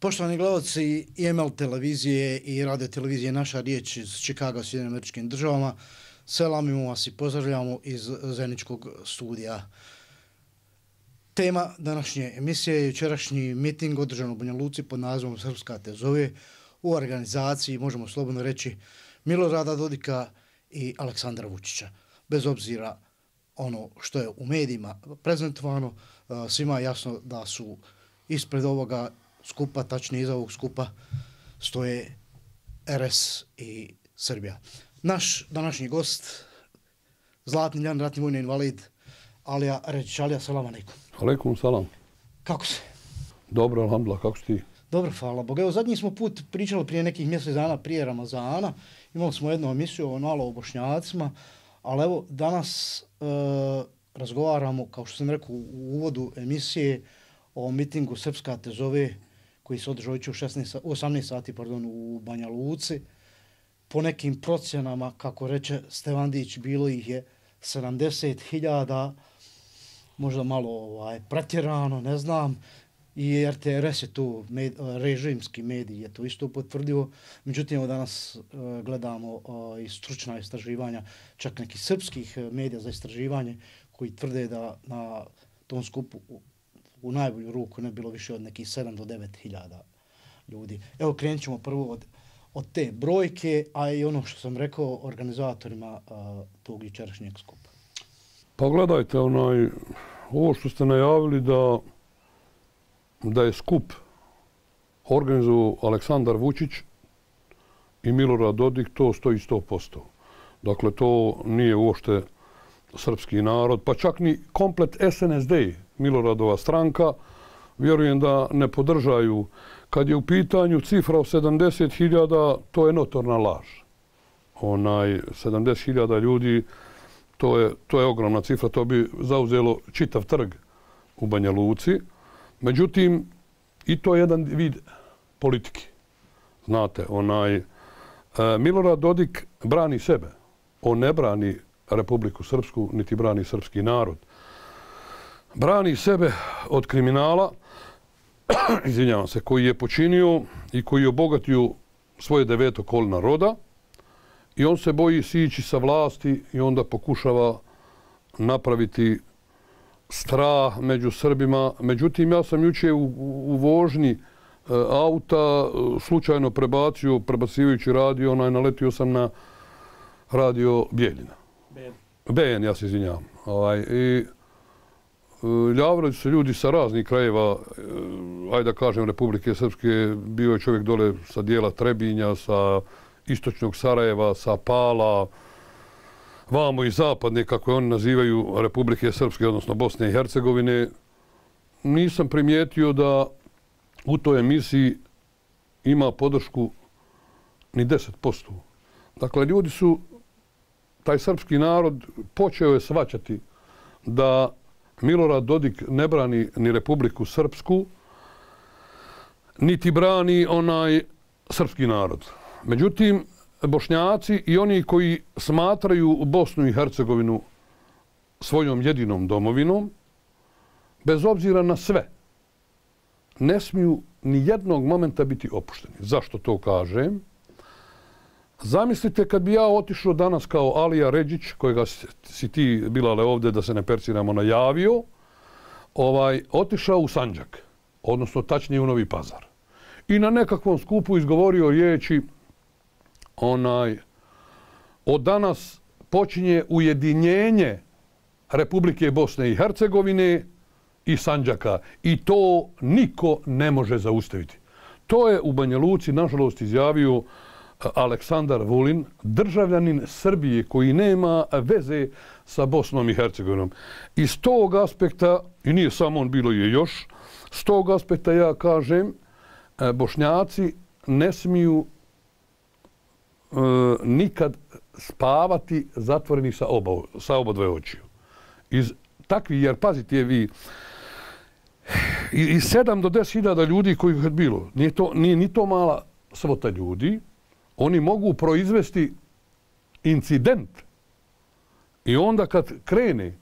Poštovani gledalci IML televizije i radio televizije Naša riječ iz Čikaga, Sjedinjenim Američkim Državama, selamimo vas i pozdravljamo iz zajedničkog studija. Tema današnje emisije je jučerašnji miting održan u Banja Luci pod nazivom Srpska te zove u organizaciji, možemo slobodno reći, Milorada Dodika i Aleksandra Vučića. Bez obzira ono što je u medijima prezentovano, svima je jasno da su ispred ovoga skupa, tačnije iza ovog skupa, stoje RS i Srbija. Naš današnji gost, Zlatni Ljan, ratni vojni invalid, Alija Ređić. Alija, salam alejkum. Alejkum salam. Kako si? Dobro, alhamdulillah, kako si ti? Dobro, hvala Bogu. Evo, zadnji smo put pričali prije nekih mjesec dana prije Ramazana. Imali smo jednu emisiju o Bošnjacima, ali evo, danas razgovaramo, kao što sam rekao u uvodu emisije, o mitingu Srpska te zove, koji se održao u 18 sati u Banja Luci. Po nekim procjenama, kako reče Stevandić, bilo ih je 70.000, možda malo pretjerano, ne znam. I RTRS je to, režimski medij je to isto potvrdio. Međutim, danas gledamo i stručna istraživanja, čak nekih srpskih medija za istraživanje, koji tvrde da na tom skupu u najbolju ruku ne bilo više od nekih 7 do 9.000 ljudi. Evo, krenut ćemo prvo od te brojke, a i ono što sam rekao organizatorima tog jučerašnjeg skupa. Pa gledajte, ovo što ste najavili da je skup organizovao Aleksandar Vučić i Milorad Dodik, to stoji 100%. Dakle, to nije uopšte srpski narod, pa čak ni komplet SNSD, Miloradova stranka, vjerujem da ne podržaju. Kad je u pitanju cifra od 70.000, to je notorna laž. 70.000 ljudi, to je ogromna cifra, to bi zauzelo čitav trg u Banja Luci. Međutim, i to je jedan vid politike. Znate, Milorad Dodik brani sebe. On ne brani Republiku Srpsku, niti brani srpski narod. Brani sebe od kriminala, izvinjavam se, koji je počinio i koji je obogatio svoje 9. kolina roda, i on se boji sići sa vlasti i onda pokušava napraviti strah među Srbima. Međutim, ja sam jučer u vožnji auta slučajno prebacivajući radio, naletio sam na radio Bijeljina. BN, ja se izvinjavam. I javljaju se ljudi sa raznih krajeva, ajde da kažem, Republike Srpske. Bio je čovjek dole sa dijela Trebinja, sa istočnog Sarajeva, sa Pala, vamo i zapadne, kako je oni nazivaju, Republike Srpske, odnosno Bosne i Hercegovine. Nisam primijetio da u toj emisiji ima podršku ni 10%. Dakle, ljudi su, taj srpski narod počeo je shvaćati da Milorad Dodik ne brani ni Republiku Srpsku, niti brani srpski narod. Međutim, Bošnjaci i oni koji smatraju Bosnu i Hercegovinu svojom jedinom domovinom, bez obzira na sve, ne smiju ni jednog momenta biti opušteni. Zašto to kažem? Zamislite kad bi ja otišao danas kao Alija Ređić, kojega si ti, Bilale, ovdje, da se ne perciramo, najavio, otišao u Sandžak, odnosno tačnije u Novi Pazar. I na nekakvom skupu izgovorio riječi od danas počinje ujedinjenje Republike Bosne i Hercegovine i Sandžaka i to niko ne može zaustaviti. To je u Banja Luci, nažalost, izjavio Aleksandar Vulin, državljanin Srbije koji nema veze sa Bosnom i Hercegovinom. Iz tog aspekta, i nije samo on, bilo je još, s tog aspekta ja kažem, Bošnjaci ne smiju nikad spavati zatvoreni sa oba dve očiju. Iz takvih, jer pazite vi, iz 7 do 10.000 ljudi koji je bilo, nije ni to mala svota ljudi, oni mogu proizvesti incident i onda kad krene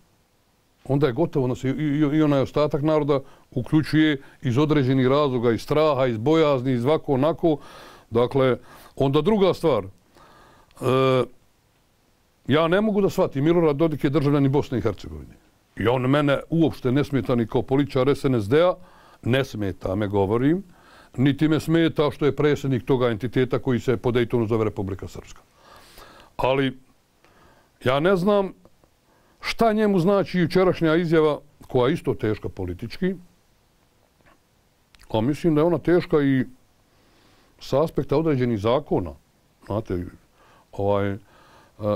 onda je gotovo da se i onaj ostatak naroda uključuje iz određenih razloga, iz straha, iz bojazni, iz ovako onako. Dakle, onda druga stvar. Ja ne mogu da shvatim, Milorad Dodik je državljanin Bosne i Hercegovine. I on mene uopšte ne smeta ni kao političar SNSD-a, ne smeta me, govorim, niti me smeta što je predsjednik toga entiteta koji se po Dejtonu zove Republika Srpska. Ali ja ne znam šta njemu znači jučerašnja izjava, koja je isto teška politički, a mislim da je ona teška i sa aspekta određenih zakona. Znate,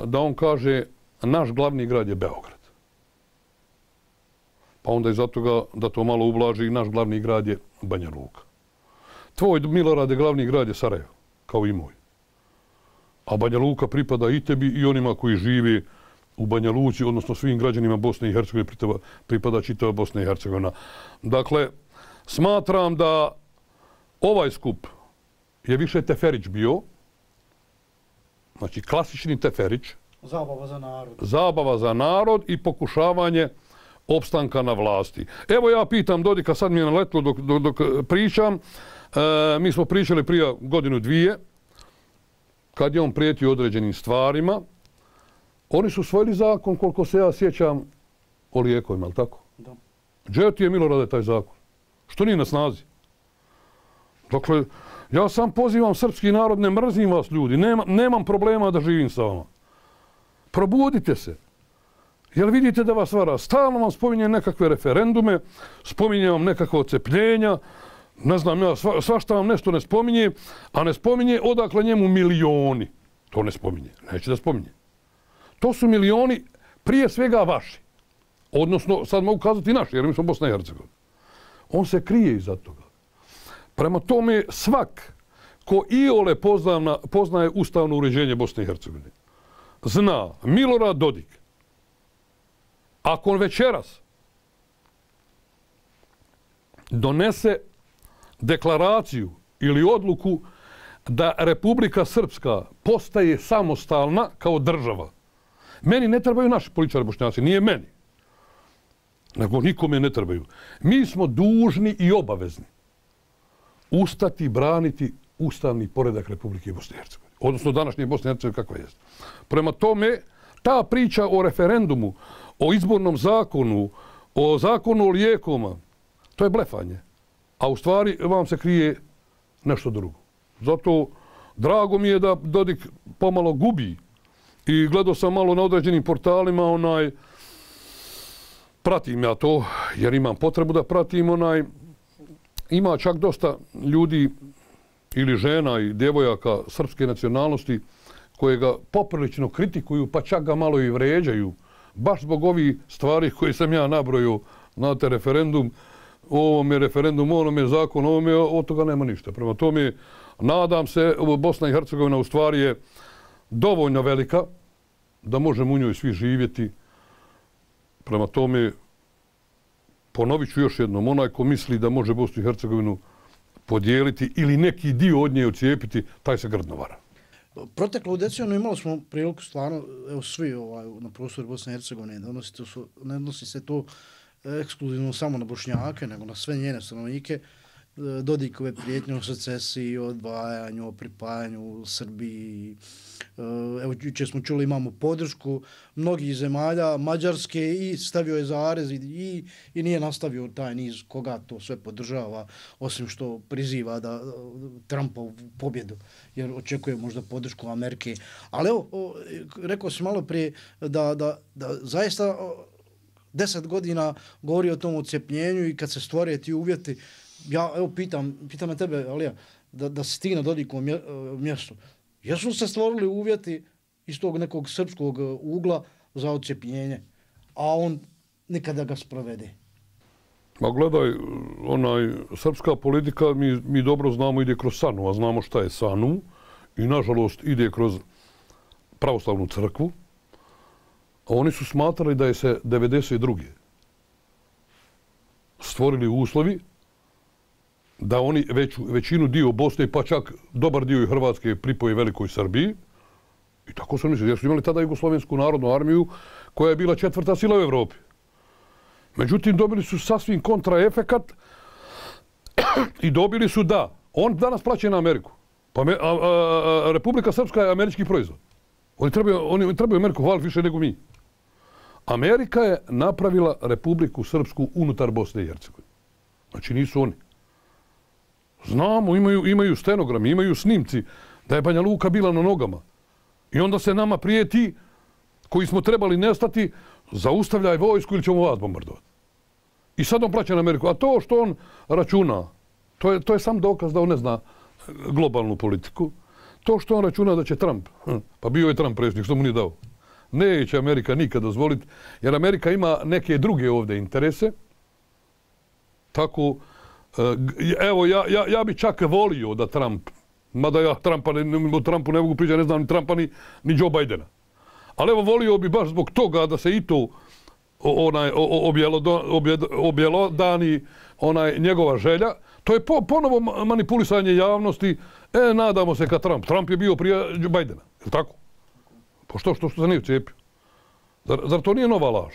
da on kaže naš glavni grad je Beograd. Pa onda iza toga da to malo ublaži, naš glavni grad je Banja Luka. Tvoj, Milorade, glavni grad je Sarajevo, kao i moj. A Banja Luka pripada i tebi i onima koji žive u Banja Luci, odnosno svim građanima Bosne i Hercegovine pripada čitava Bosna i Hercegovina. Dakle, smatram da ovaj skup je više teferić bio, znači klasični teferić. Zabava za narod. Zabava za narod i pokušavanje opstanka na vlasti. Evo ja pitam Dodika, sad mi je naletlo dok pričam, mi smo pričali prije godinu dvije, kad je on prijetio određenim stvarima, oni su usvojili zakon, koliko se ja sjećam, o lijekovima, ali tako? Da. Gdje ti je, Milorade, taj zakon? Što nije na snazi? Dakle, ja sam pozivam srpski narod, ne mrzim vas ljudi, nemam problema da živim sa vama. Probudite se. Jel vidite da vas vara? Stalno vam spominje nekakve referendume, spominje vam nekakva odcepljenja, ne znam ja, svašta vam nešto ne spominje, a ne spominje odakle njemu milioni. To ne spominje, neće da spominje. To su milioni prije svega vaši. Odnosno, sad mogu kazati naši, jer mi smo Bosna i Hercegovina. On se krije iza toga. Prema tome, svak ko iole poznaje ustavno uređenje Bosne i Hercegovine, zna Milorad Dodik, ako on večeras donese deklaraciju ili odluku da Republika Srpska postaje samostalna kao država, meni ne trebaju naši političari Bošnjaci, nije meni, nego nikome ne trebaju. Mi smo dužni i obavezni ustati i braniti ustavni poredak Republike Bosne i Hercegovine. Odnosno današnje Bosne i Hercegovine kakva je. Prema tome, ta priča o referendumu, o izbornom zakonu, o zakonu o lijekovima, to je blefanje. A u stvari vam se krije nešto drugo. Zato drago mi je da Dodik pomalo gubi. I gledao sam malo na određenim portalima, pratim ja to, jer imam potrebu da pratim, ima čak dosta ljudi ili žena i djevojaka srpske nacionalnosti koje ga poprilično kritikuju, pa čak ga malo i vređaju, baš zbog ovih stvari koje sam ja nabrojio, znate, referendum, ovom je referendum, onom je zakon, ovom je, od toga nema ništa. Prema tome, nadam se, Bosna i Hercegovina u stvari je dovoljno velika da možemo u njoj svi živjeti. Prema tome, ponovit ću još jednom, onaj ko misli da može Bosnu i Hercegovinu podijeliti ili neki dio od nje odcijepiti, taj se grdno vara. Proteklu deceniju imali smo priliku stvarno, evo svi na prostoru Bosne i Hercegovine, ne odnosi se to ekskluzivno samo na Bošnjake, nego na sve njene stanovnike, Dodikove prijetnje o secesiji, o odvajanju, o pripajanju Srbiji. Evo, jučer smo čuli, imamo podršku mnogih zemalja, Mađarske, i stavio je zarez i nije nastavio taj niz koga to sve podržava, osim što priziva da Trumpovu pobjedu, jer očekuje možda podršku Amerike. Ali evo, rekao sam malo prije da zaista 10 godina govori o tom odcepljenju i kad se stvore ti uvjeti, ja evo pitam na tebe, Alija, da si ti na Dodikovom mjestu. Jesu se stvorili uvjeti iz tog nekog srpskog ugla za odcepljenje, a on nikada ga sprovede? Ma gledaj, srpska politika, mi dobro znamo, ide kroz SANU, a znamo šta je SANU i nažalost ide kroz pravoslavnu crkvu. A oni su smatrali da je se 92. stvorili uslovi da oni većinu dio Bosne, pa čak dobar dio i Hrvatske pripoje Velikoj Srbiji. I tako su mislili, jer su imali tada Jugoslovensku narodnu armiju koja je bila 4. sila u Evropi. Međutim, dobili su sasvim kontraefekat i dobili su da on danas plaća na Ameriku. Pa Republika Srpska je američki proizvod. Oni trebaju Ameriku hvaliti više nego mi. Amerika je napravila Republiku Srpsku unutar Bosne i Hercegovine. Znači nisu oni. Znamo, imaju stenogrami, imaju snimci da je Banja Luka bila na nogama. I onda se nama prijeti, koji smo trebali nestati, zaustavljaj vojsku ili ćemo vas bombardovati. I sad on plaća na Ameriku. A to što on računa, to je sam dokaz da on ne zna globalnu politiku. To što on računa da će Trump, pa bio je Trump predsjednik, što mu nije dao. Neće Amerika nikad dozvoliti, jer Amerika ima neke druge ovdje interese. Tako, evo, ja bi čak volio da Trump, mada ja o Trumpu ne mogu pričati, ne znam ni Trumpa ni Joe Bidena. Ali evo, volio bi baš zbog toga da se i to objelodani njegova želja. To je ponovo manipulisanje javnosti. Nadamo se ka Trump. Trump je bio prije Bidena. Je li tako? Pa što se nije cijepio? Zar to nije nova laž?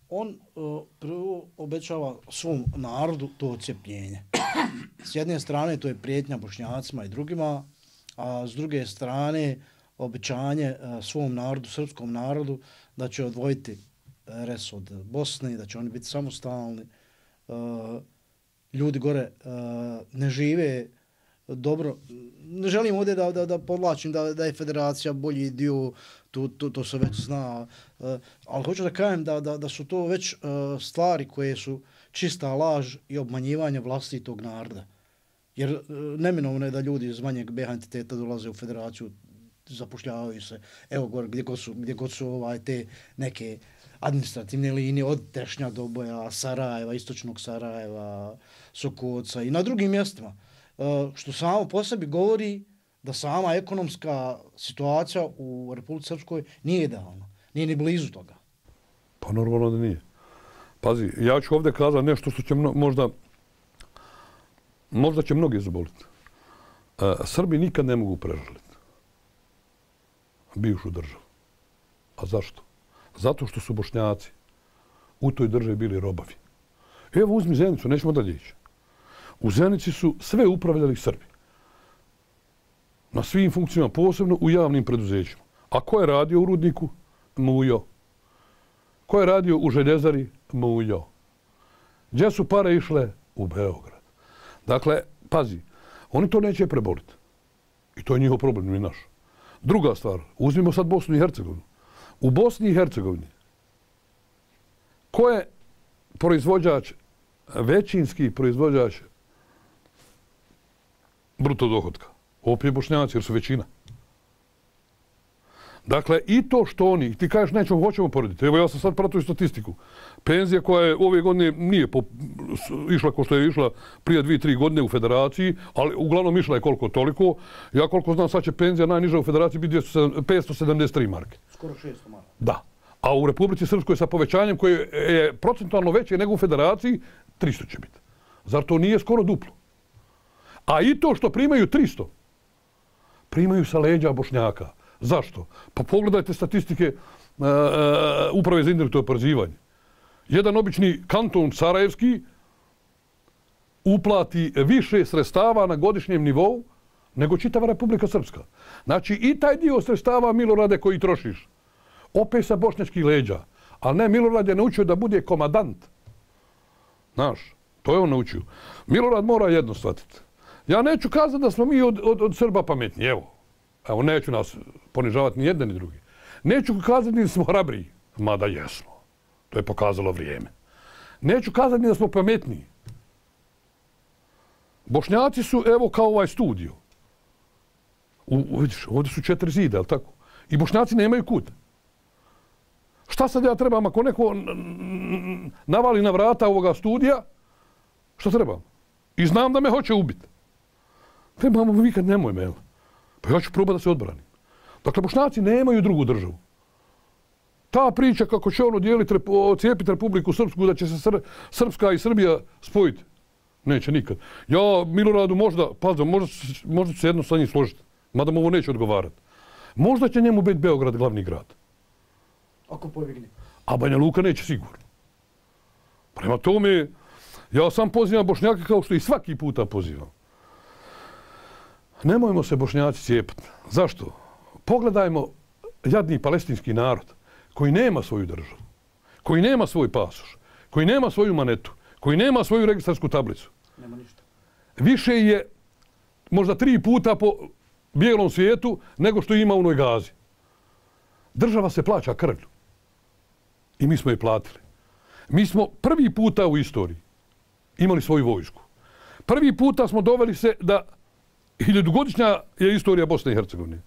On prvo obećava svom narodu to odcepljenje. S jedne strane to je prijetnja Bošnjacima i drugima, a s druge strane obećanje svom narodu, srpskom narodu, da će odvojiti res od Bosne, da će oni biti samostalni. Ljudi gore ne žive dobro. Ne želim ovdje da podlačim da je federacija bolji dio, to se već zna. Ali hoću da kažem da su to već stvari koje su čista laž i obmanjivanje vlastitog naroda. Jer neminovno je da ljudi iz manjeg BH entiteta dolaze u federaciju, zapošljavaju se, evo gore, gdje god su te neke administrativne linije od Tešnja do Boja, Sarajeva, istočnog Sarajeva, Sokoca i na drugim mjestima. Što samo po sebi govori da sama ekonomska situacija u Republici Srpskoj nije idealna. Nije ni blizu toga. Pa normalno da nije. Pazi, ja ću ovdje kazati nešto što će možda će mnogi zaboliti. Srbi nikad ne mogu prežaliti bivšu državu. A zašto? Zato što su Bošnjaci u toj državi bili robovi. Evo uzmi Zenicu, nećemo dalje ići. U Zenici su sve upravljali Srbi. Na svim funkcijama, posebno u javnim preduzećima. A ko je radio u rudniku? Mujo. Ko je radio u željezari? Mujo. Gdje su pare išle? U Beograd. Dakle, pazi, oni to neće preboliti. I to je njihov problem, nije naš. Druga stvar, uzmimo sad Bosnu i Hercegovinu. U Bosni i Hercegovini ko je proizvođač, većinski proizvođač bruto dohotka? Opet Bošnjaci, jer su većina. Dakle, i to što oni, ti kažeš nećemo, hoćemo porediti. Evo ja sam sad pratio statistiku. Penzija koja je ove godine nije išla kao što je išla prije 2-3 godine u federaciji, ali uglavnom išla je koliko toliko. Ja koliko znam, sad će penzija najniža u federaciji biti 573 marke. Skoro 600 marke. Da. A u Republici Srpskoj sa povećanjem koje je procentualno veće nego u federaciji, 300 će biti. Zar to nije skoro duplo? A i to što primaju 300, primaju sa leđa Bošnjaka. Zašto? Pa pogledajte statistike Uprave za indirektno oporezivanje. Jedan obični kanton sarajevski uplati više sredstava na godišnjem nivou nego čitava Republika Srpska. Znači i taj dio sredstava, Milorade, koji trošiš, opet sa bošnjačkih leđa. Ali ne, Milorad je naučio da bude komadant. Znaš, to je on naučio. Milorad mora jedno shvatiti. Ja neću kazati da smo mi od Srba pametni, Evo, neću nas ponižavati ni jedne ni drugi. Neću kazati ni da smo hrabriji, mada jesmo. To je pokazalo vrijeme. Neću kazati ni da smo pametniji. Bošnjaci su, evo, kao ovaj studio. Vidiš, ovdje su 4 zida, je li tako? I Bošnjaci nemaju kut. Šta sad ja trebam ako neko navali na vrata ovoga studija? Šta trebam? I znam da me hoće ubiti. Trebamo vikati, nemoj me, pa ja ću probati da se odbranim. Dakle, Bošnjaci nemaju drugu državu. Ta priča kako će ono cijepiti Republiku Srpsku, da će se Srpska i Srbija spojiti, neće nikad. Ja, Miloradu, možda ću se jedno sa njim složiti, mada mu ovo neće odgovarati. Možda će njemu biti Beograd glavni grad. Ako povigne. A Banja Luka neće sigurno. Prema tome, ja sam pozivam Bošnjake kao što i svaki puta pozivam. Nemojmo se Bošnjaci cijepati. Zašto? Pogledajmo jadni palestinski narod koji nema svoju državu, koji nema svoj pasoš, koji nema svoju manetu, koji nema svoju registarsku tablicu. Nema ništa. Više je možda 3 puta po bijelom svijetu nego što ima u Novoj Gazi. Država se plaća krvlju. I mi smo je platili. Mi smo prvi puta u istoriji imali svoju vojsku. Prvi puta smo doveli se da 1000-godišnja je istorija Bosne i Hercegovine.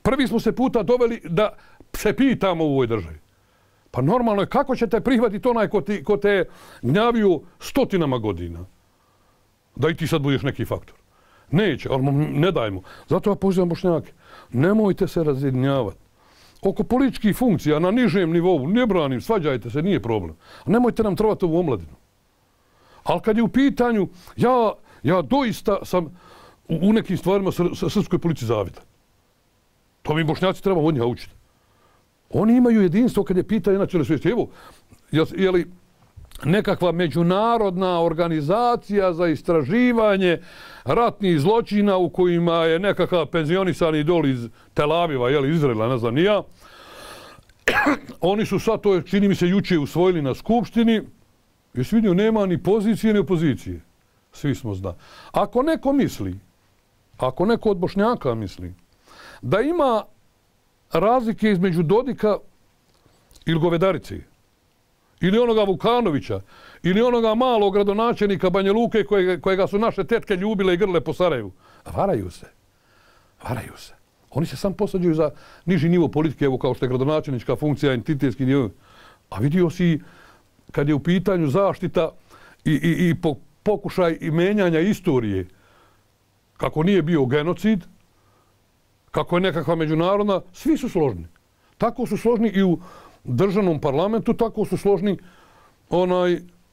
Prvi smo se puta doveli da se pitamo u ovoj državi. Pa normalno je kako ćete prihvatiti onaj ko te gnjavio stotinama godina. Da i ti sad budeš neki faktor. Neće, ali ne dajmo. Zato ja pozivam Bošnjake. Nemojte se razjedinjavati. Oko političkih funkcija na nižem nivou, ne branim, svađajte se, nije problem. Nemojte nam trovati ovu omladinu. Ali kad je u pitanju, ja doista sam u nekim stvarima srpskoj policiji zavidan. To mi Bošnjaci trebamo od njega učiti. Oni imaju jedinstvo kad je pitanje nacionalne svijesti. Evo, je li nekakva međunarodna organizacija za istraživanje ratnih zločina u kojima je nekakav penzionisani idol iz Tel Aviva, Izraela, ne znam ni ja. Oni su sad, to čini mi se juče usvojili na skupštini. Jesi vidio, nema ni pozicije ni opozicije. Svi smo zna. Ako neko misli, ako neko od Bošnjaka misli, da ima razlike između Dodika ili Govedarice, ili onoga Vukanovića, ili onoga malog gradonačelnika Banja Luke kojega su naše tetke ljubile i grle po Sarajevu. Varaju se. Varaju se. Oni se sam posađuju za niži nivo politike, evo kao što je gradonačelnička funkcija, entitetski nivo. A vidio si kad je u pitanju zaštita i pokušaj i menjanja istorije, kako nije bio genocid, kako je nekakva međunarodna, svi su složni. Tako su složni i u državnom parlamentu, tako su složni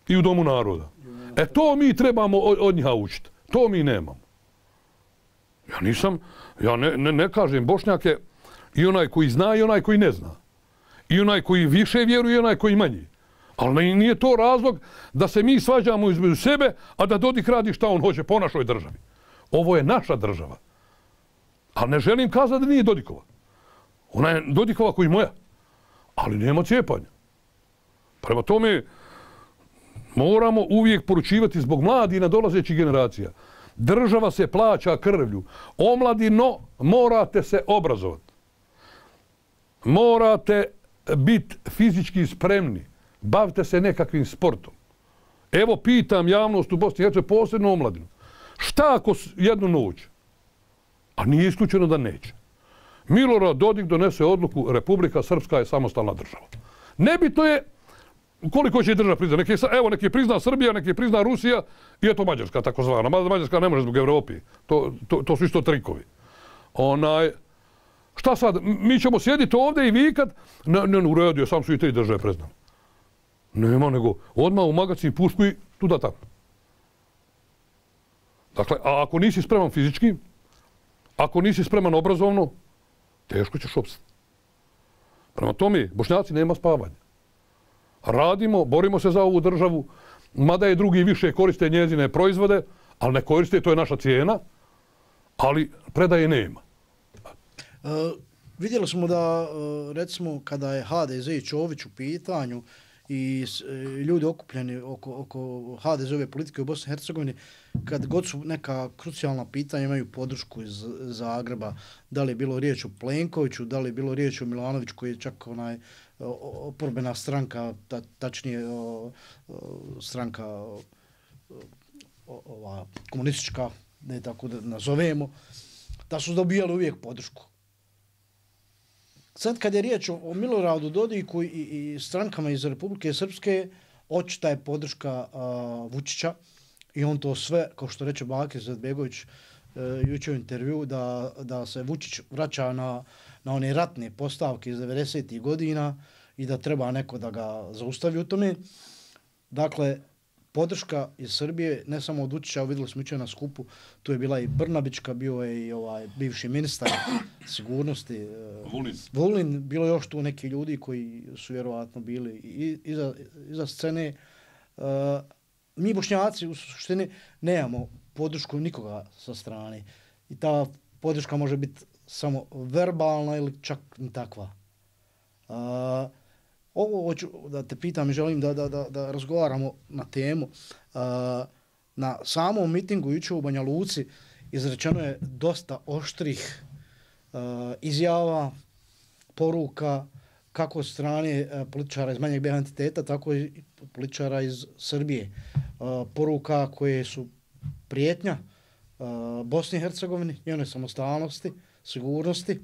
i u Domu naroda. To mi trebamo od njih učiti. To mi nemamo. Ja ne kažem Bošnjake i onaj koji zna i onaj koji ne zna. I onaj koji više vjeruje i onaj koji manje. Ali nije to razlog da se mi svađamo između sebe, a da Dodik radi šta on hoće po našoj državi. Ovo je naša država. Ali ne želim kazati da nije Dodikova. Ona je Dodikova koji moja. Ali nema cijepanja. Prema tome, moramo uvijek poručivati zbog mladih i nadolazećih generacija. Država se plaća krvlju. Omladino, morate se obrazovati. Morate biti fizički spremni. Bavite se nekakvim sportom. Evo pitam javnost u Bosni i Hercegovini, posebno omladinu. Šta ako jednu noć, a nije isključeno da neće, Milorad Dodik donese odluku Republika Srpska je samostalna država. Nebitno je koliko će država priznati. Neki je prizna Srbija, neki je prizna Rusija i eto Mađarska takozvana. Mađarska ne može zbog Evropi. To su isto trikovi. Šta sad? Mi ćemo sjediti ovdje i vikat, ne, u redu, sam su i 3 države priznali. Nema nego odmah u magacin pušku i tuda tamo. Dakle, a ako nisi spreman fizički, ako nisi spreman obrazovno, teško ćeš opstati. Prema tome, Bošnjaci nema spavanja. Radimo, borimo se za ovu državu, mada je drugi više koriste njezine proizvode, ali ne koriste, to je naša cijena, ali predaje nema. Vidjeli smo da, recimo, kada je HDZ i Čović u pitanju i ljudi okupljeni oko HDZ-ove politike u Bosni i Hercegovini, kad god su neka krucijalna pitanja, imaju podršku iz Zagreba, da li je bilo riječ o Plenkoviću, da li je bilo riječ o Milanoviću, koji je čak oporbena stranka, tačnije stranka komunistička, ne tako da nazovemo, da su dobijali uvijek podršku. Sad kad je riječ o Miloradu Dodiku i strankama iz Republike Srpske, očita je podrška Vučića i on to sve, kao što reče Bakir Izetbegović jučer u intervju, da se Vučić vraća na one ratne postavke iz 90. godina i da treba neko da ga zaustavi u tome. Dakle, podrška iz Srbije, ne samo od Vučića, vidjeli smo jučer na skupu, tu je bila i Brnabićka, bio je i bivši ministar sigurnosti Vulin, bilo je još tu neki ljudi koji su vjerovatno bili iza scene. mi Bošnjaci u suštini nemamo podršku nikoga sa strane. I ta podrška može biti samo verbalna ili čak ni takva. Ovo hoću da te pitam i želim da razgovaramo na temu. Na samom mitingu jučer u Banja Luci izrečeno je dosta oštrih izjava, poruka, kako od strane političara iz manjeg BiH entiteta, tako i političara iz Srbije. Poruka koje su prijetnja Bosni i Hercegovini, njenoj samostalnosti, sigurnosti.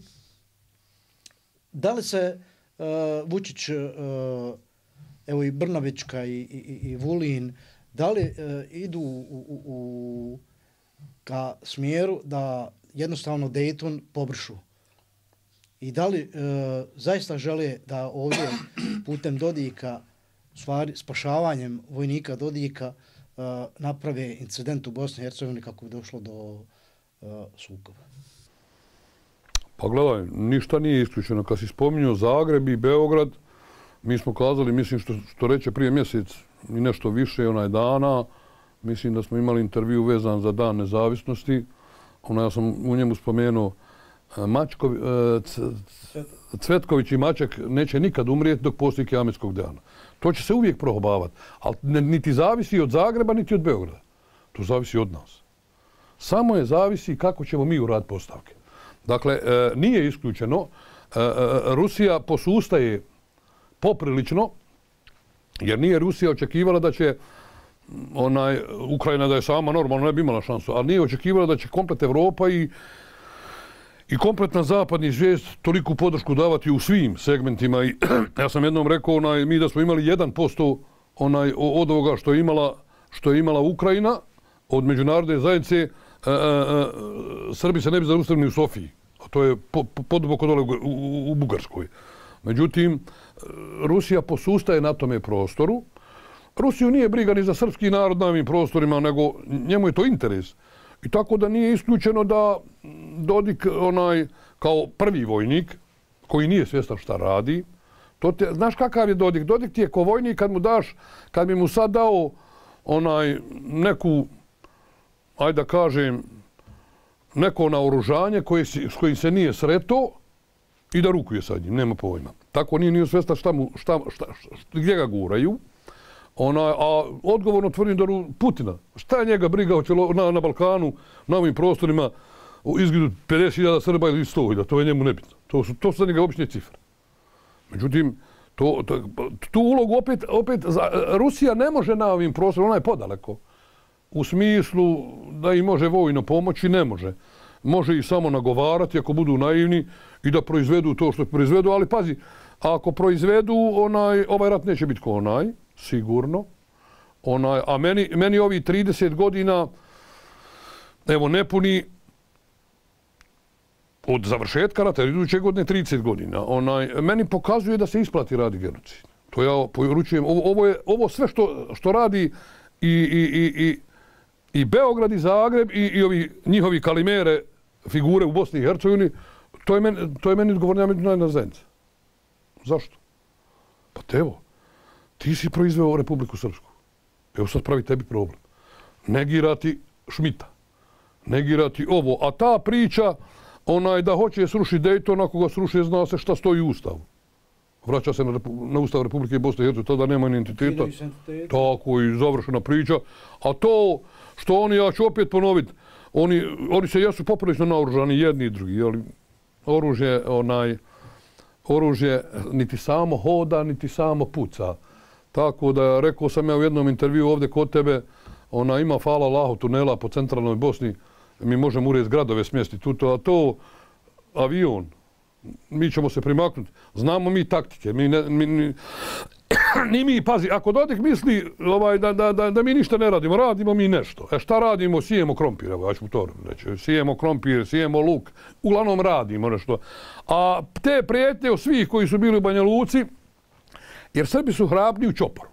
Da li se Vučić, evo i Brnabićka i Vulin, da li idu ka smjeru da jednostavno Dayton pobrišu? I da li zaista žele da ovdje putem Dodika, stvari spašavanjem vojnika Dodika, naprave incident u Bosni i Hercegovini kako bi došlo do sukoba? Pa gledaj, ništa nije isključeno. Kad si spominjao Zagreb i Beograd, mi smo kazali, mislim što reče prije mjesec i nešto više onaj dana, mislim da smo imali intervju vezan za Dan nezavisnosti. Ja sam u njemu spomenuo Cvetković i Maček neće nikad umrijeti dok postoji Kijametskog dana. To će se uvijek prohobavati. Ali niti zavisi od Zagreba, niti od Beograda. To zavisi od nas. Samo je zavisi kako ćemo mi uraditi postavke. Dakle, nije isključeno. Rusija posustaje poprilično, jer nije Rusija očekivala da će Ukrajina da je sama normalno ne bi imala šansu, ali nije očekivala da će komplet Evropa i kompletna zapadni svijest toliku podršku davati u svim segmentima. I ja sam jednom rekao, mi da smo imali 1% od ovoga što je imala Ukrajina, od međunarodne zajednice, Srbi se ne bi zaustavili u Sofiji. A to je poduboko dole u Bugarskoj. Međutim, Rusija posustaje na tome prostoru. Rusiju nije briga ni za srpski narod na ovim prostorima, nego njemu je to interes. I tako da nije isključeno da Dodik, kao prvi vojnik, koji nije svjestan šta radi, znaš kakav je Dodik? Dodik ti je ko vojnik kad bi mu sad dao neku, ajde da kažem, neko naoružanje s kojim se nije sretao i da rukuje sa njim, nema pojma. Tako nije svjestan gdje ga guraju. A odgovorno tvrdim da Putina, šta je njega briga na Balkanu, na ovim prostorima, izgidu 50.000 Srba ili 100.000, to je njemu nebitno. To su za njega obične cifre. Međutim, tu ulogu opet Rusija ne može na ovim prostorima, ona je podaleko. U smislu da im može vojno pomoći, ne može. Može ih samo nagovarati ako budu naivni i da proizvedu to što proizvedu, ali pazi, ako proizvedu, ovaj rat neće biti ko sigurno. A meni ovi 30 godina, evo nepuni od završetka rata, iduće godine 30 godina, meni pokazuje da se isplati radi genocid. To ja poručujem. Ovo sve što radi i Beograd i Zagreb i ovi njihovi kalimere figure u Bosni i Hercegovini, to je meni odgovorna međunarodna zajednica. Zašto? Pa evo, ti si proizveo Republiku Srpsku. Evo sad pravi tebi problem. Negirati Šmita. Negirati ovo. A ta priča, da hoće srušiti Dayton, ako ga sruši, zna se šta stoji u Ustavu. Vraća se na Ustav Republike Bosne i Hercegovine, tada nema ni entiteta. Tako i završena priča. A to što ja ću opet ponoviti, oni se jesu poprilično naoružani, jedni i drugi, ali oružje niti samo hoda, niti samo puca. Tako da, rekao sam ja u jednom intervju ovdje kod tebe, ima, hvala Allahu, tunela po centralnoj Bosni, mi možemo urez gradove smjestiti, a to avion, mi ćemo se primaknuti. Znamo mi taktike, ni mi, pazi, ako Dodik misli da mi ništa ne radimo, radimo mi nešto. Šta radimo? Sijemo krompir, evo, ja ću to reći. Sijemo krompir, sijemo luk, uglavnom radimo nešto. A te prijetnje od svih koji su bili u Banja Luci, jer Srbi su hrabni u čoporu.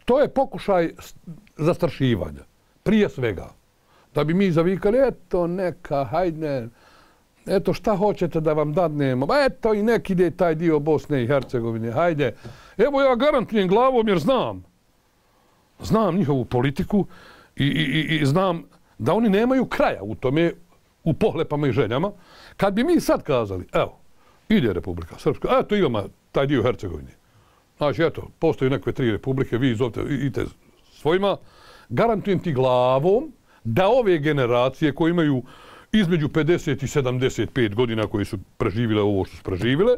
To je pokušaj zastrašivanja, prije svega. Da bi mi zavikali, eto, neka, hajde, eto šta hoćete da vam dadnemo, eto i nek ide taj dio Bosne i Hercegovine, hajde. Evo ja garantujem glavom jer znam njihovu politiku i znam da oni nemaju kraja u tome, u pohlepama i željama. Kad bi mi sad kazali, evo, ide Republika Srpska, eto imamo taj dio Hercegovine. Znači, eto, postoji neke 3 republike, vi idete svojima, garantujem ti glavom da ove generacije koje imaju između 50 i 75 godina koji su preživile ovo što su preživile,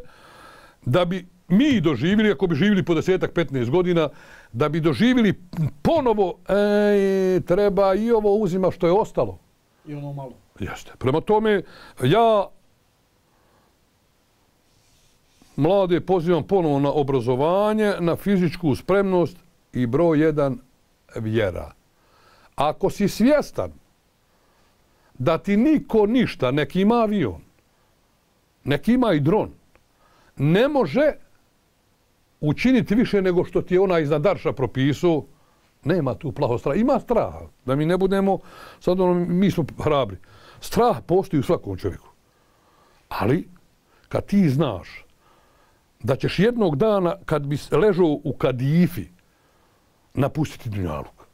da bi mi doživjeli, ako bi živjeli po 10-15 godina, da bi doživjeli ponovo, treba i ovo uzima što je ostalo. I ono malo. Jeste. Prema tome, ja mlade pozivam ponovo na obrazovanje, na fizičku spremnost i broj 1 vjera. Ako si svjestan da ti niko ništa, neki ima avion, neki ima i dron, ne može učiniti više nego što ti je ona iznad Darša propisao, nema tu plaho straha. Ima straha, da mi ne budemo, sad mi smo hrabri. Strah postoji u svakom čovjeku. Ali, kad ti znaš da ćeš jednog dana, kad bi ležao u kadifi, napustiti dunjaluk.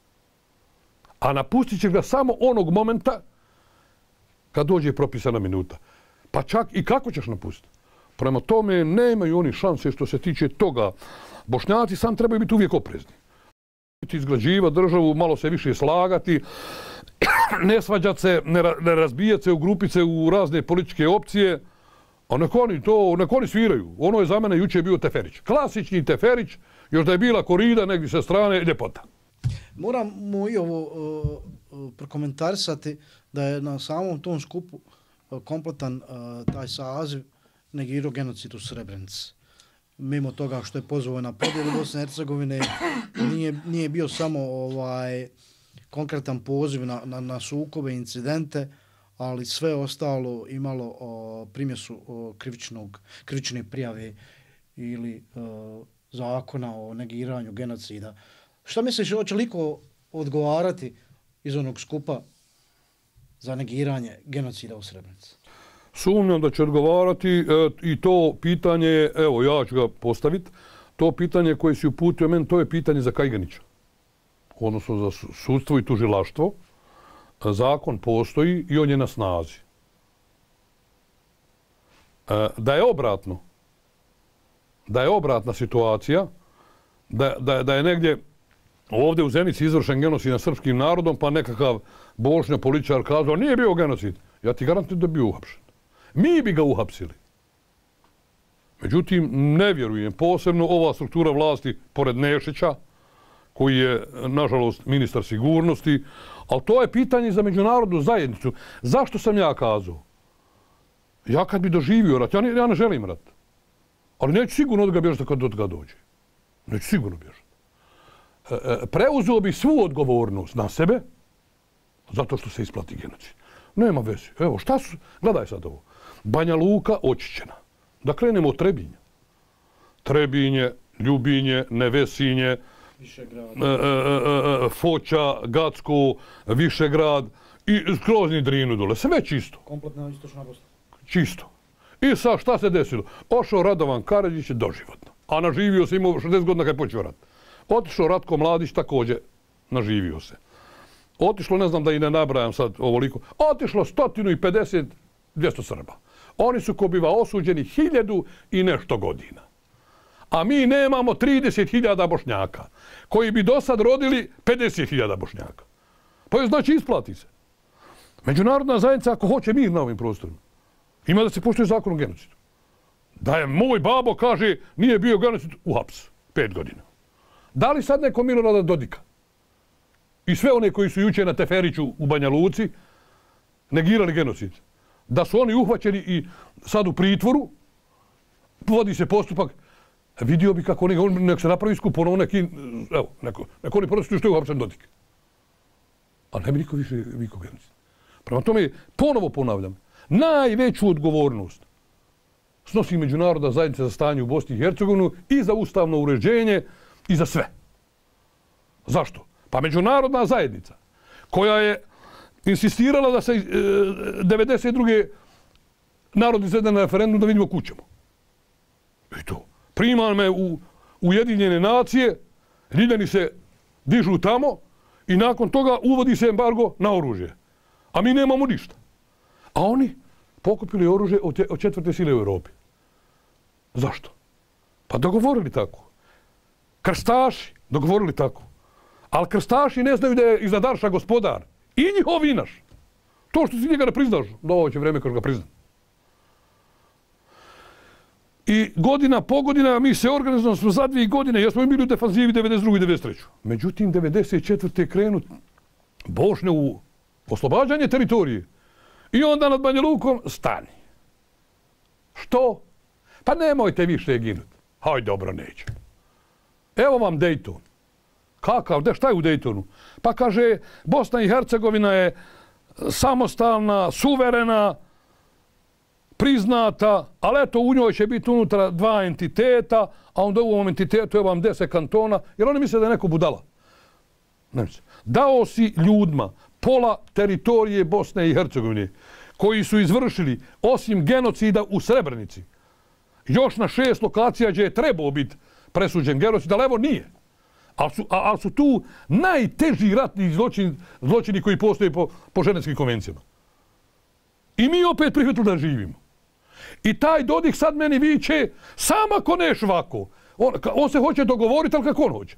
A napustit ćeš ga samo onog momenta kad dođe propisana minuta. Pa čak i kako ćeš napustiti? Prema tome, nemaju oni šanse što se tiče toga. Bošnjaci sam trebaju biti uvijek oprezni. Izgrađivati državu, malo se više slagati, ne svađati se, ne razbijati se u grupice, u razne političke opcije. A nek oni sviraju. Ono je za mene jučer bio Teferić. Klasični Teferić, još da je bila korida negdje sa strane, ljepota. Moramo i ovo prokomentarisati da je na samom tom skupu kompletan taj saziv negirao genocid u Srebrenici. Mimo toga što je pozvao na podjelu Bosne i Hercegovine, nije bio samo konkretan poziv na sukobe, incidente, ali sve ostalo imalo primjesu krivične prijave ili zakona o negiranju genocida. Šta misliš, hoće liko odgovarati iz onog skupa za negiranje genocida u Srebrenici? Sumnjam da će odgovarati i to pitanje, evo ja ću ga postaviti, to pitanje koje si uputio meni, to je pitanje za Kajganića. Odnosno za sudstvo i tužilaštvo. Zakon postoji i on je na snazi. Da je obratna situacija, da je negdje ovdje u Zenici izvršen genocid nad srpskim narodom, pa nekakav bošnja političar kazao nije bio genocid. Ja ti garantujem da je bio uhapšen. Mi bi ga uhapsili. Međutim, ne vjerujem. Posebno ova struktura vlasti, pored Nešića, koji je, nažalost, ministar sigurnosti, ali to je pitanje za međunarodnu zajednicu. Zašto sam ja kazao? Ja kad bi doživio rat, ja ne želim rat. Ali neću sigurno od ga bježati kad od ga dođe. Neću sigurno bježati. Preuzeo bi svu odgovornost na sebe zato što se isplati genocid. Nema veze. Evo, šta su? Gledaj sad ovo. Banja Luka očišćena. Da krenemo od Trebinja. Trebinje, Ljubinje, Nevesinje, Foča, Gacko, Višegrad i skrozni Drinu dole. Sve čisto. Kompletna istočna Bosna. Čisto. I sad šta se desilo? Ošao Radovan Karadžić doživotno. A naživio se, imao 60 godina kad je počeo rat. Otišao Ratko Mladić također naživio se. Otišlo, ne znam da i ne nabrajam sad ovoliko, otišlo 150, 200 Srba. Oni su ko biva osuđeni 1000 i nešto godina. A mi nemamo 30.000 Bošnjaka, koji bi do sad rodili 50.000 Bošnjaka. Pa je znači isplati se. Međunarodna zajednica, ako hoće mir na ovim prostorima, ima da se poštuje zakon o genocidu. Da je moj babo kaže nije bio genocid, uhaps 5 godina. Da li sad neko Milorada Dodika i sve one koji su juče na Teferiću u Banja Luci negirali genocid, da su oni uhvaćeni i sad u pritvoru, vodi se postupak, vidio bi kako nek se napravi skup, ono neki, evo, neko oni prosto što je uhapšen Dodik. A ne bi niko više vikao genocid. Prema tome, ponovo ponavljam, najveću odgovornost snosi međunarodna zajednica za stanje u Bosni i Hercegovini i za ustavno uređenje i za sve. Zašto? Pa međunarodna zajednica koja je insistirala da se 92. narod izvede na referendum da vidimo kućemo. I to. Prima me u Ujedinjene nacije, Ljiljani se dižu tamo i nakon toga uvodi se embargo na oružje. A mi nemamo ništa. A oni pokupili oružje od četvrte sile u Europi. Zašto? Pa dogovorili tako. Krstaši dogovorili tako. Ali krstaši ne znaju da je iznad Arša gospodar. I njihov i naš. To što si njega ne priznaš, dovoće vreme kad ga prizna. I godina po godina mi se organizujemo smo za 2 godine, jer smo bili u defanzivi 92. i 93. Međutim, 94. krenu Bošnje u oslobađanje teritorije. I onda nad Banja Lukom stani. Što? Pa nemojte više ginuti. Hajde, dobro, neće. Evo vam Dejton. Kakav? Šta je u Dejtonu? Pa kaže, Bosna i Hercegovina je samostalna, suverena, priznata, ali eto u njoj će biti unutra 2 entiteta, a onda u ovom entitetu je vam 10 kantona, jer oni misle da je neko budala. Ne misle. Dao si ljudima pola teritorije Bosne i Hercegovine, koji su izvršili, osim genocida u Srebrenici, još na 6 lokacija gdje je trebao biti presuđen genocid, ali evo nije. Ali su tu najteži ratni zločini koji postoje po ženevskim konvencijama. I mi opet prihvatili da živimo. I taj Dodik sad meni viče, sam ako neš ovako. On se hoće dogovoriti, ali kako on hoće.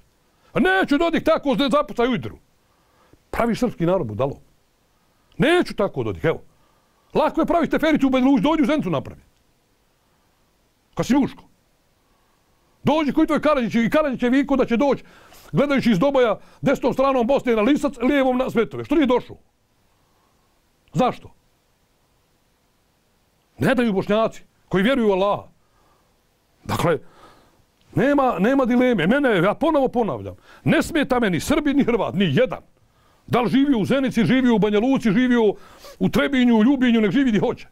Neću Dodik tako zapucaj u idru. Praviš srpski narod budalo. Neću tako Dodik, evo. Lako je praviti tefericu u Banja Luci, dođi u Zenicu napravi. Kad si muško. Dođi koji tvoj Karadžić i Karadžić je vikao da će doći, gledajući iz Doboja, desnom stranom Bosne na Lisac, lijevom na Svetove. Što nije došao? Zašto? Ne daju Bošnjaci koji vjeruju u Allaha. Dakle, nema dileme. Ja ponovo ponavljam. Ne smeta meni Srbi ni Hrvat, ni jedan. Da li živio u Zenici, živio u Banja Luci, živio u Trebinju, u Ljubinju, nek živi gdje hoće.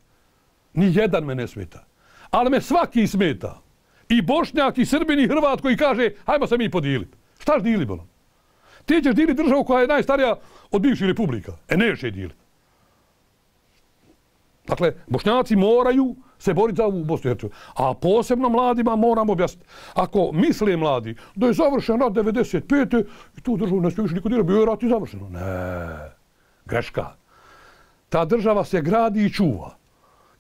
Ni jedan me ne smeta. Ali me svaki smeta. I Bošnjak, i Srbin, i Hrvat koji kaže hajmo se mi podijeliti. Šta ćeš dijeliti, bolam? Ti ćeš dijeliti državu koja je najstarija od bivših republika. Neće je dijeliti. Dakle, Bošnjaci moraju se boriti za ovu Bosnu i Hercegovinu. A posebno mladima moramo objasniti. Ako misle mladi da je završen rat 95. i tu državu ne smije više niko dirati, bio je rat i završeno. Ne, greška. Ta država se gradi i čuva.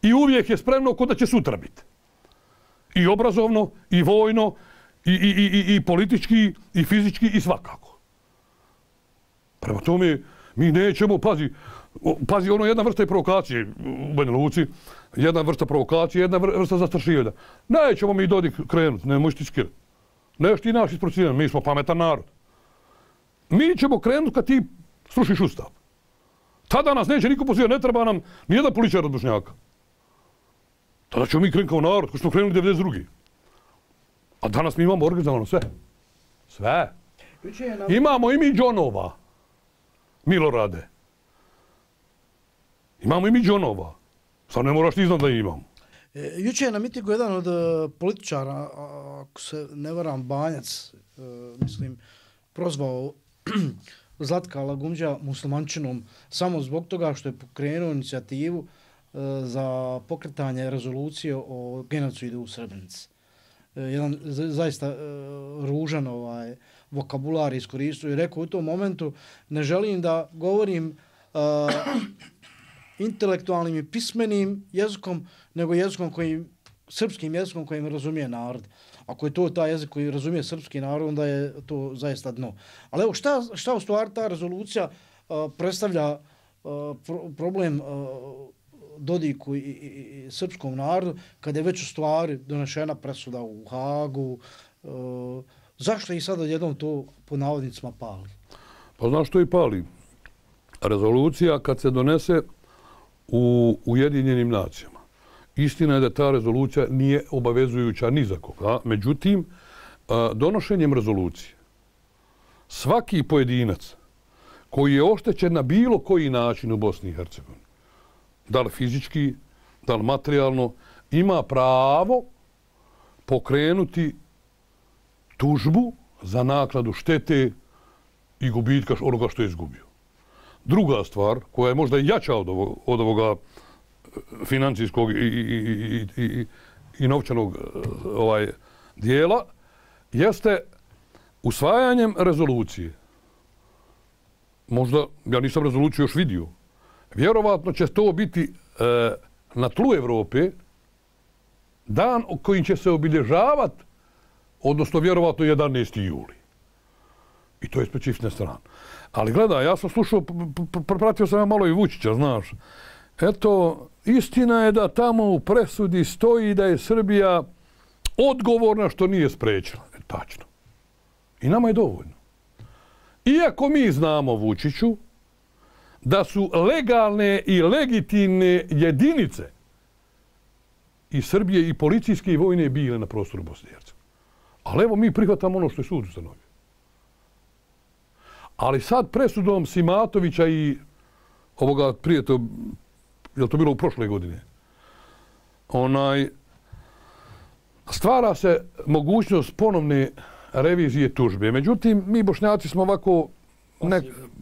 I uvijek je spremno kod da će sutra biti. I obrazovno, i vojno, i politički, i fizički, i svakako. Prema tome, mi nećemo, pazi, ono jedna vrsta je provokacije u Banja Luci, jedna vrsta provokacije, jedna vrsta zastrašivanja. Nećemo mi Dodik krenuti, ne možeš ti skirati. Neš ti naš isprocijeniti, mi smo pametan narod. Mi ćemo krenuti kad ti srušiš ustav. Tada nas neće niko pozivati, ne treba nam nijedan političar od Bošnjaka. Tada ćemo mi krenuti kao narod, koji smo krenuli 92. A danas mi imamo organizovano sve. Sve. Imamo i mi džonova. Milorade. Imamo i mi džonova. Sad ne moraš ti znati da imamo. Juče je na mitingu jedan od političara, ako se ne varam, Banjac, mislim, prozvao Zlatka Lagumđa muslimančinom samo zbog toga što je pokrenuo inicijativu za pokretanje rezolucije o genocidu u Srebrenici. Jedan zaista ružan vokabular iskoristio i rekao u tom momentu ne želim da govorim intelektualnim i pismenim jezikom, nego jezikom srpskim jezikom kojim razumije narod. Ako je to taj jezik koji razumije srpski narod, onda je to zaista dno. Ali evo, šta u stvari ta rezolucija predstavlja problem Dodiku i srpskom narodu, kada je već u stvari donešena presuda u Hagu, zašto i sad odjednom to po navodnicima pali? Pa znaš što i pali? Rezolucija kad se donese u Ujedinjenim nacijama. Istina je da ta rezolucija nije obavezujuća ni za koga. Međutim, donošenjem rezolucije svaki pojedinac koji je oštećen na bilo koji način u Bosni i Hercegovini, da li fizički, da li materijalno, ima pravo pokrenuti tužbu za naknadu štete i gubitka onoga što je izgubio. Druga stvar, koja je možda jača od ovoga financijskog i novčanog dijela, jeste usvajanjem rezolucije. Možda, ja nisam rezoluciju još vidio, vjerovatno će to biti na tlu Evrope dan kojim će se obilježavati, odnosno vjerovatno 11. juli. I to je specifična strana. Ali gledaj, ja sam slušao, pratio sam malo i Vučića, znaš. Eto, istina je da tamo u presudi stoji da je Srbija odgovorna što nije sprečila. Tačno. I nama je dovoljno. Iako mi znamo, Vučiću, da su legalne i legitimne jedinice i Srbije i policijske i vojne bile na prostoru Bosne i Hercegovine. Ali evo mi prihvatamo ono što je sud ustanovio. Ali sad presudom Simatovića i ovoga prije to, je li to bilo u prošle godine, stvara se mogućnost ponovne revizije tužbe. Međutim, mi Bošnjaci smo ovako,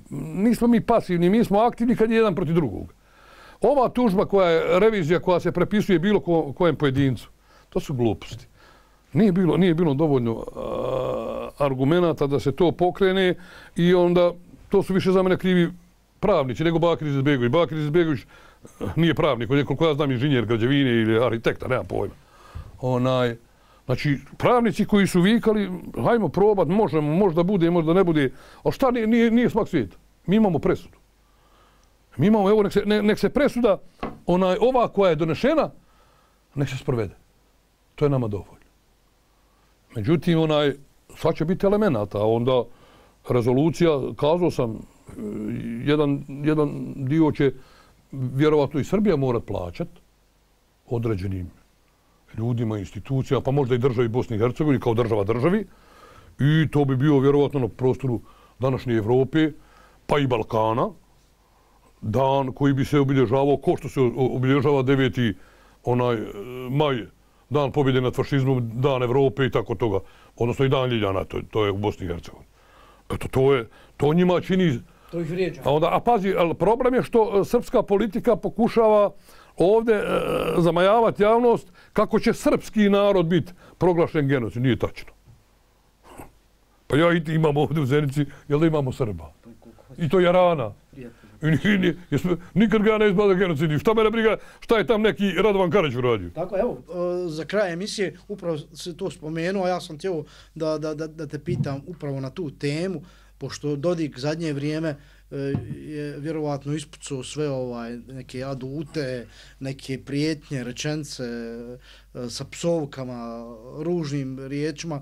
nismo mi pasivni, mi smo aktivni kad je jedan protiv drugog. Ova tužba koja je revizija koja se prepisuje bilo kojem pojedincu, to su gluposti. Nije bilo dovoljno argumenata da se to pokrene i onda to su više za mene krivi pravnici nego Bakir Izetbegović. Bakir Izetbegović nije pravnik, on je koliko ja znam inženjer građevine ili arhitekta, nemam pojma. Znači, pravnici koji su vikali, hajmo probat, možemo, možda bude, možda ne bude, ali šta nije smak svijeta? Mi imamo presudu. Mi imamo, evo, nek se presuda, ova koja je donešena, nek se sprovede. To je nama dovoljno. Međutim, sad će biti elemenata, onda rezolucija, kazao sam, jedan dio će vjerovatno i Srbija morat plaćat određenim ljudima, institucijama, pa možda i državi Bosni i Hercegovini kao država državi. I to bi bio vjerovatno na prostoru današnje Evrope, pa i Balkana, dan koji bi se obilježavao, ko što se obilježava 9. maj, dan pobjede nad fašizmom, dan Evrope i tako toga. Odnosno i dan Ljiljana, to je u Bosni i Hercegovini. Eto, to njima čini... To ih vrijeđa. A pazi, problem je što srpska politika pokušava ovdje zamajavati javnost kako će srpski narod biti proglašen genocid. Nije tačno. Pa ja i ti imamo ovdje u Zenici, jel da imamo Srba? I to Jarana. Nikad ga ne izbada genocidi. Šta mene briga, šta je tam neki Radovan Karađ uradio? Tako, evo, za kraj emisije upravo se to spomenuo, a ja sam htio da te pitam upravo na tu temu, pošto Dodik zadnje vrijeme je vjerovatno ispucao sve neke adute, neke prijetnje, rečence sa psovkama, ružnim riječima.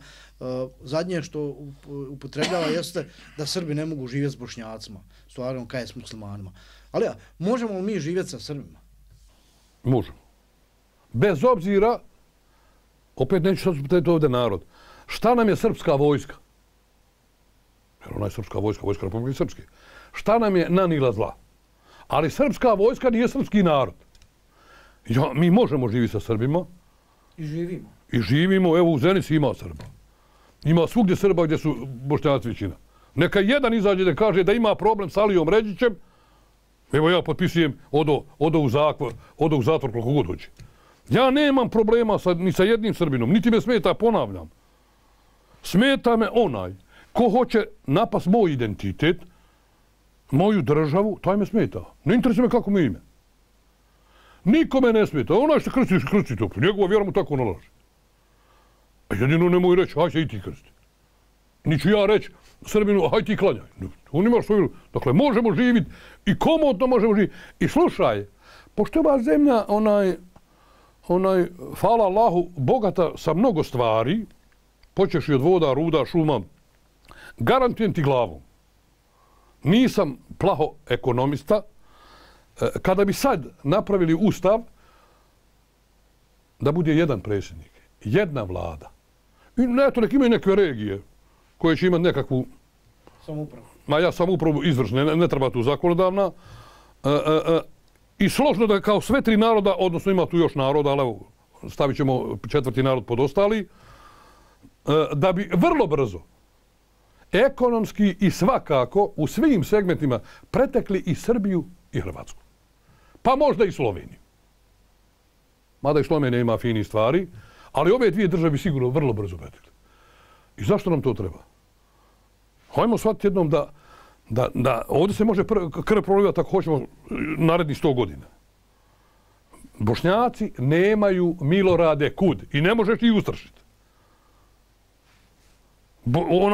Zadnje što upotrebljava jeste da Srbi ne mogu živjeti s Bošnjacima, stvarno kaj je s muslimanima. Ali možemo li mi živjeti sa Srbima? Možemo. Bez obzira, opet neću sad upotrebiti ovdje narod, šta nam je srpska vojska? Jer ona je srpska vojska, vojska Republike Srpske. Šta nam je nanila zla? Ali srpska vojska nije srpski narod. Mi možemo živjeti sa Srbima. I živimo. I živimo, evo u Zenici ima Srba. Ima svugdje Srba gdje su Bošnjaci većina. Neka jedan izađe da kaže da ima problem s Alijom Ređićem. Evo ja potpisujem, odo u zatvor koliko god hoće. Ja nemam problema ni sa jednim Srbinom, niti me smeta, ponavljam. Smeta me onaj ko hoće napast moj identitet, moju državu, taj me smeta. Ne interesuje me kako mi ime. Nikome ne smeta. Onaj što krsti to. Njegova vjera mu tako nalaže. A jedino nemoj reći, haj se i ti krsti. Niću ja reći Srbinu, haj ti klanjaj. On ima svoju... Dakle, možemo živjeti i komodno možemo živjeti. I slušaj, pošto je ova zemlja, hvala Allahu, bogata sa mnogo stvari, počeš i od voda, ruda, šuma, garantujem ti glavom. Nisam plaho ekonomista. Kada bi sad napravili ustav da bude jedan predsjednik, jedna vlada, i eto nek imaju neke regije koje će imati nekakvu samoupravu. Samoupravu izvršne, ne treba tu zakonodavna. I složno da kao sve tri naroda, odnosno ima tu još naroda, ali evo, stavit ćemo četvrti narod pod ostali, da bi vrlo brzo ekonomski i svakako u svim segmentima pretekli i Srbiju i Hrvatsku. Pa možda i Sloveniju. mada i Slovenija ima fini stvari, ali ove dvije države bi sigurno vrlo brzo ubedili. I zašto nam to treba? Hajmo shvatiti jednom da ovdje se može krv prolivati ako hoćemo narednih 100 godina. Bošnjaci nemaju Milorade kud i ne možeš ih ustrašiti.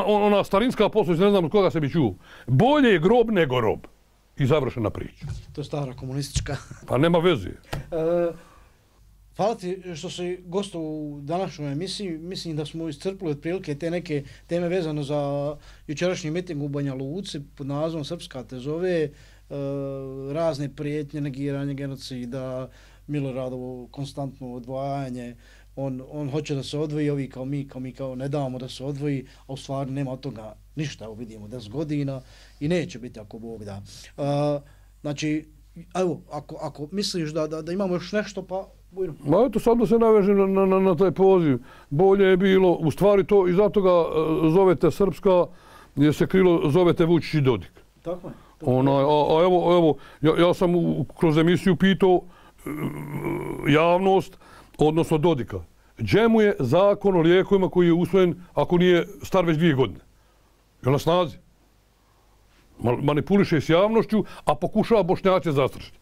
Ona starinska poslovica, ne znam od koga se bi čuo. Bolje je grob nego rob. I završena priča. To je stara komunistička. Pa nema veze. Hvala ti što si gostao u današnjoj emisiji. Mislim da smo iscrpili otprilike te neke teme vezano za jučerašnji miting u Banja Luci pod nazivom Srpska te zove, razne prijetnje, negiranje genocida, Miloradovo konstantno odvajanje. On hoće da se odvoji, ovi kao mi ne damo da se odvoji, a u stvari nema od toga ništa, evo vidimo 10 godina i neće biti ako Bog da. Znači, evo, ako misliš da imamo još nešto, pa bujno. Ma eto, sad da se naveže na taj poziv. Bolje je bilo, u stvari to, i zato ga zovete Srpska, jer se krilo zovete Vučić i Dodik. Tako je. A evo, ja sam kroz emisiju pitao javnost, odnosno Dodika. Gdje mu je zakon o lijekovima koji je usvojen ako nije star već 2 godine? Je na snazi? Manipuliše s javnošću, a pokušava Bošnjače zastrašiti.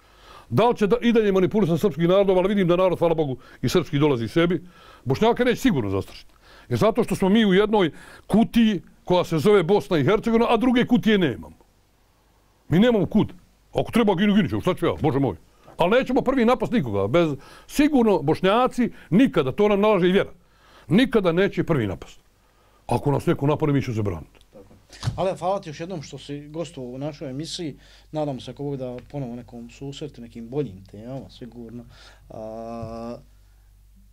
Da li će i dalje manipulisati srpski narodom, ali vidim da narod, hvala Bogu, i srpski dolazi sebi. Bošnjake neće sigurno zastrašiti. Jer zato što smo mi u jednoj kutiji koja se zove Bosna i Hercegovina, a druge kutije nemamo. Mi nemamo kud. Ako treba ginu ćemo, šta ću ja, Bože moj. Ali nećemo prvi napast nikoga. Sigurno Bošnjaci nikada, to nam nalaže i vjera, nikada neće prvi napast. Ako nas neko napade, mi ćemo se braniti. Ali hvala ti još jednom što si gostovao u našoj emisiji. Nadam se ako Bog da ponovo nekom susretu, nekim boljim temama, sigurno.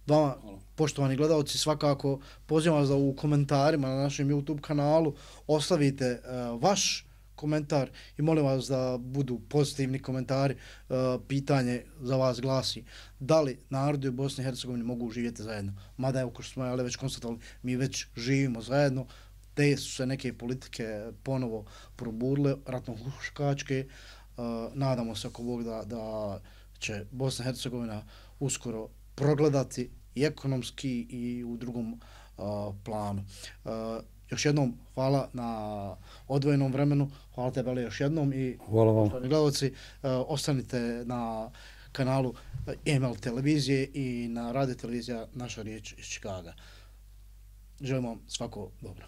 Vama, poštovani gledalci, svakako pozivam vas da u komentarima na našem YouTube kanalu ostavite vaš komentar i molim vas da budu pozitivni komentari. Pitanje za vas glasi: da li narodi u Bosni i Hercegovini mogu živjeti zajedno? Mada evo, kao što smo već konstatovali, mi već živimo zajedno. Te su se neke politike ponovo probudile, ratno-huškačke. Nadamo se ako Bog da će Bosna i Hercegovina uskoro progledati i ekonomski i u drugom planu. Još jednom hvala na odvojenom vremenu. Hvala tebe još jednom i hvala vam. Gledalci, ostanite na kanalu EML televizije i na radio televizija Naša riječ iz Čikaga. Želim vam svako dobro.